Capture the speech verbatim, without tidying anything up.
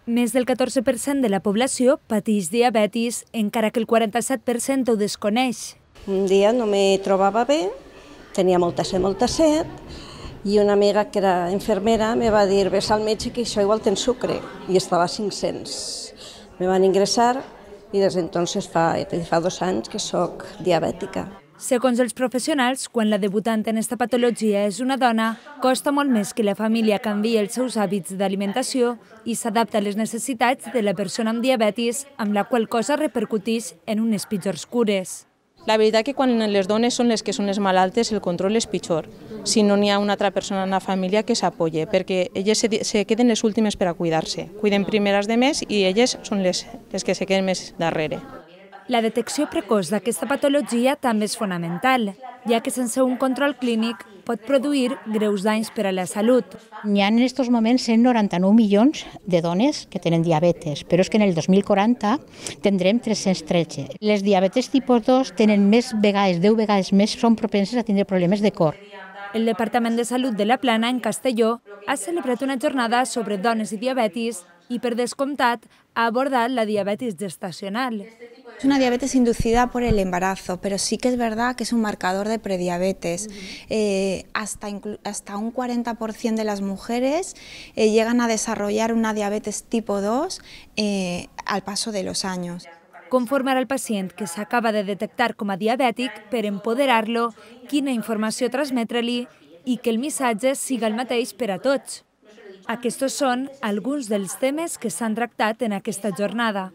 Més del catorze per cent de la població pateix diabetis, encara que el quaranta-set per cent ho desconeix. Un dia no me trobava bé, tenia molta set, molta set, i una amiga que era infermera me va dir «Ves al metge que això igual tens sucre», i estava a cinc-cents. Me van ingressar i des d'entonces fa, fa dos anys que soc diabètica. Segons els professionals, quan la debutant en esta patologia és una dona, costa molt més que la família canviï els seus hàbits d'alimentació i s'adapta a les necessitats de la persona amb diabetis, amb la qual cosa repercuteix en unes pitjors cures. La veritat que quan les dones són les que són les malaltes, el control és pitjor, si no n'hi ha una altra persona en la família que s'apoye, perquè elles se, se queden les últimes per a cuidar-se. Cuiden primer les demés i elles són les, les que se queden més darrere. La detecció precoç d'aquesta patologia també és fonamental, ja que sense un control clínic pot produir greus danys per a la salut. Hi ha en aquests moments cent noranta-nou milions de dones que tenen diabetes, però és que en el dos mil quaranta tindrem tres-cents tretze. Les diabetes tipus dos tenen més vegades, deu vegades més, són propenses a tindre problemes de cor. El Departament de Salut de la Plana, en Castelló, ha celebrat una jornada sobre dones i diabetis y, per descomptat, ha abordat la diabetis gestacional. Es una diabetes inducida por el embarazo, pero sí que es verdad que es un marcador de prediabetes. Eh, hasta, hasta un cuarenta por ciento de las mujeres eh, llegan a desarrollar una diabetes tipo dos eh, al paso de los años. Conformar al pacient que s'acaba de detectar com a diabètic per empoderar-lo, quina informació transmetre-li i que el missatge siga el mateix per a tots. Aquests són alguns dels temes que s'han tractat en aquesta jornada.